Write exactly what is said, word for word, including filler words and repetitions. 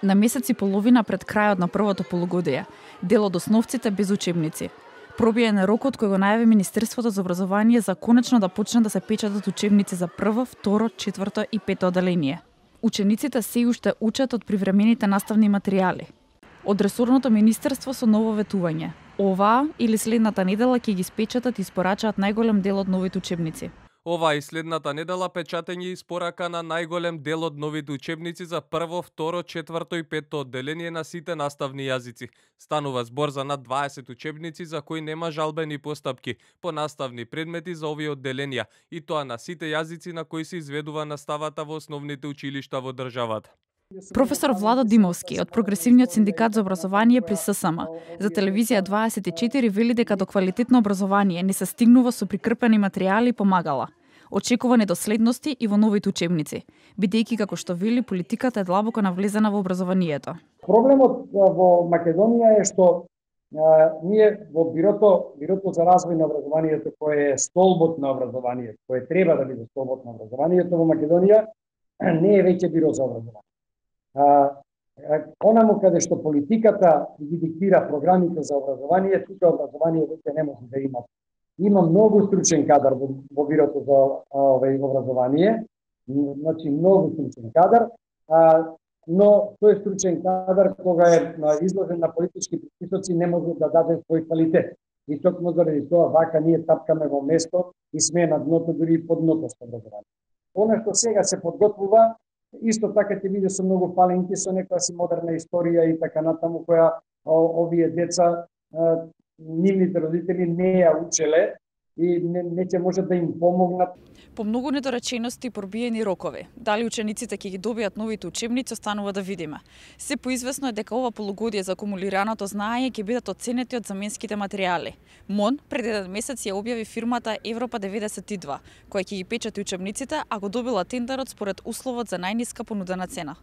На месец и половина пред крајот на првото полугодие, дел од основците без учебници. Пробиен е рокот кој го најави Министерството за образование за конечно да почнат да се печатат учебници за прво, второ, четврто и пето оделение. Учениците се уште учат од привремените наставни материјали. Од ресорното министерство со ново ветување. Оваа или следната недела ќе ги спечатат и испорачаат најголем дел од новите учебници. Ова и следната недела печатење испорака на најголем дел од новите учебници за прво, второ, четврто и пето одделение на сите наставни јазици. Станува збор за над дваесет учебници за кои нема жалбени постапки по наставни предмети за овие одделенија, и тоа на сите јазици на кои се изведува наставата во основните училишта во државата. Професор Владо Димовски од Прогресивниот синдикат за образование при С С М за телевизија дваесет и четири вели дека до квалитетно образование не се стигнува со прикрпени материјали и помагала. Очекувани доследности и во новите учебници, бидејќи како што вели политиката е длабоко навлезена во образованието. Проблемот во Македонија е што а, ние во бирото бирото за развој на образованието, кој е столбот на образованието, кој треба да биде столбот на образованието во Македонија, не е веќе биро за образование. А, онаму каде што политиката ги диктира програмите за образование, тука образование веќе не може да има. Има многу стручен кадар во, во бирото за овој образование, значи многу стручен кадар, а, но тој стручен кадар кога е изложен на политички притисоци не може да даде свој квалитет. И токму заради тоа вака ние тапкаме во место и сме на дното, дури и под дното со образование. Она што сега се подготвува, исто така ќе биде со многу паленки, со некоја си модерна историја и така натаму, која овие деца, нивните родители не ја учеле и не, не ќе можат да им помогнат. По многу недоречености и пробиени рокови, дали учениците ќе ги добијат новите учебници, останува да видиме. Се поизвестно е дека ова полугодие за акумулираното знаење ќе бидат оценети од заменските материјали. МОН пред еден месец ја објави фирмата Европа деветдесет и два, која ќе ги печати учебниците, а го добила тендерот според условот за најниска понудена цена.